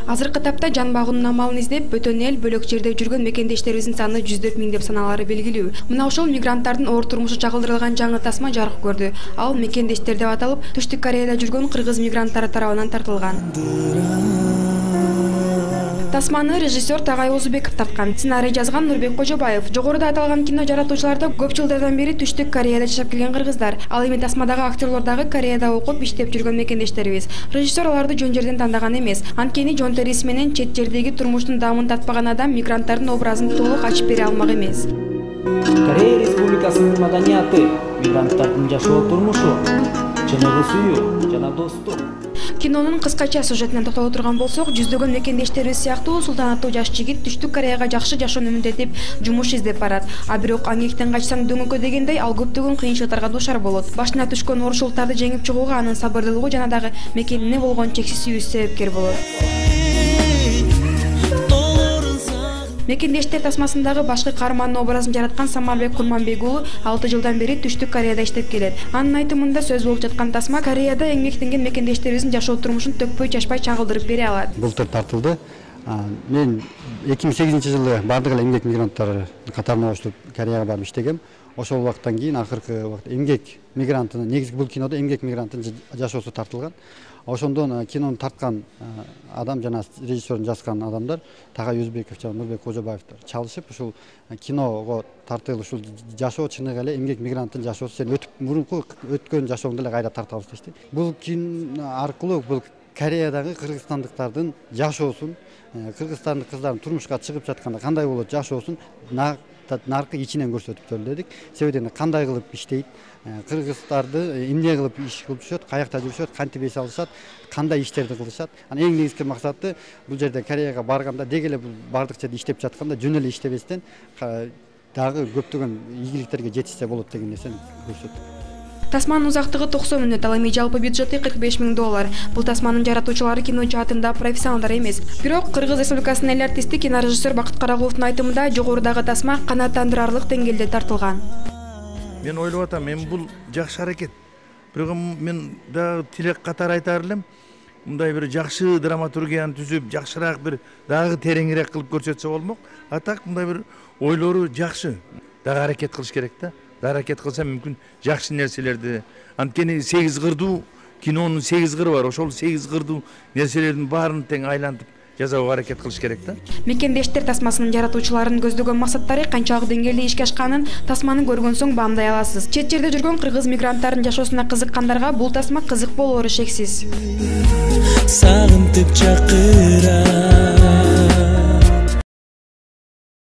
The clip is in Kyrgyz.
Азыркы тапта жан багуунун амалын издеп бөтөн эл бөлөк жерде жүргөн мекендештерибиздин саны 104 миң деп саналары белгилүү. Мына ошол мигранттардын оор турмушу чагылдырылган жаңы тасма жарык көрдү. Ал мекендештер деп аталып, Түштүк Кореяда жүргөн кыргыз мигранттары тарабынан тартылган. Тасманы режиссер Тагай Озубеков тарткан. Сценарий жазган Нурбек Кожобаев. Жогоруда аталган кино жаратуучулар да көп жылдардан бери Түштүк Кореяда жашап келген кыргыздар. Ал эми тасмадагы актерлор дагы Кореяда окуп иштеп жүргөн мекендештерибиз. Режиссер аларды жөн жерден тандаган эмес. Анткени жон териси менен чет жердеги турмуштун даамын татпаган адам мигранттардын образын толук ачып бере алмак эмес. Корея Республикасынын маданияты, мигранттардын жашоо турмушу, чыныгы сүйүү жана достук. Кинонун кыскача сюжетине токтоло турган болсок, жүздөгөн мекендештерибиз сыяктуу султанаттуу жаш жигит Түштүк Кореяга жакшы жашоону үмүндөтүп жумуш издеп барат. А бирок амгектен качсаң дөңөккө дегендей ал көптөгөн кыйынчылыктарга дуушар болот. Башына түшкөн оорчулуктарды жеңип чыгууга анын сабырдуулугу жана дагы мекенине болгон чексиз сүйүүсү себепкер болот. Мекендештер тасмасындагы башкы каармандын образын жараткан Самарбек Курманбек уулу 6 жылдан бери Түштүк Кореяда иштеп келет. Анын айтымында сөз болуп жаткан тасма Кореяда эмгектенген мекендештерибиздин жашоо турмушун төкпөй чачпай чагылдырып бере алат. Былтыр тартылды. Мен 2008-жылы бардык эле эмгек мигранттары катарына кошулуп Кореяга барып иштегем. Ошол убакыттан кийин акыркы убакытта эмгек мигрантынын негизги бул кинодо эмгек мигранттын жашоосу тартылган. Ошондон кинону тарткан адам жана режиссердун жазган адамдар Тагай Озубеков жана Нурбек Кожобаевдер чалышып ушул киного тартылып ушул жашоо чыныгы эле эмгек мигранттын жашоосу сен мурунку өткөн жашооңду эле кайра тартабыз дешти. Бул кино аркылуу бул Кореядагы кыргызстандыктардын жашоосун, кыргызстандык кыздардын турмушка чыгып жатканда кандай болот жашоосун наркы ичинен көрсөтүп дедик. Себеби кандай кылып иштейт, кыргыздарды эмне кылып иш кылып жүрүшөт, каякта жүрүшөт, кантип эс алышат, кандай иштерди кылышат. Анан эң негизги максаты бул жерде Кореяга барганда деги эле бул бардык жерде иштеп жатканда жөн эле иштебестен дагы көптөгөн ийгиликтерге жетишсе болот деген нерсени көрсөттүк. Тасманын узактыгы 90 мүнөт, ал эми жалпы бюджети $45 миң. Бул тасманын жаратуучулары кино жаатында профессионалдар эмес. Бирок Кыргыз Республикасынын эл артисти кинорежиссер Бакыт Карагуловдун айтымында жогорудагы тасма канааттандырарлык деңгээлде тартылган. Мен ойлоп атам, мен бул жакшы аракет. Бирок мен дагы тилек катары айтар элем, мындай бир жакшы драматургияны түзүп, жакшыраак бир дагы тереңирээк кылып көрсөтсө болмок. А так мындай бир ойлору жакшы. Дагы аракет кылыш керек да. Аракет кылса мүмкүн жакшы нерселерди. Анткени 8 кырдуу кинонун 8 кыры бар. Ошол 8 кырдуу нерселердин баарын тең айлантып жасоого аракет кылыш керек да. Мекендештер тасмасынын жаратуучуларынын көздөгөн максаттары канчалык деңгээлде ишке ашканын тасманы көргөн соң баамдай аласыз. Чет жерде жүргөн кыргыз мигранттардын жашоосуна кызыккандарга бул тасма кызык болоору шексиз. Сагынтып чакыр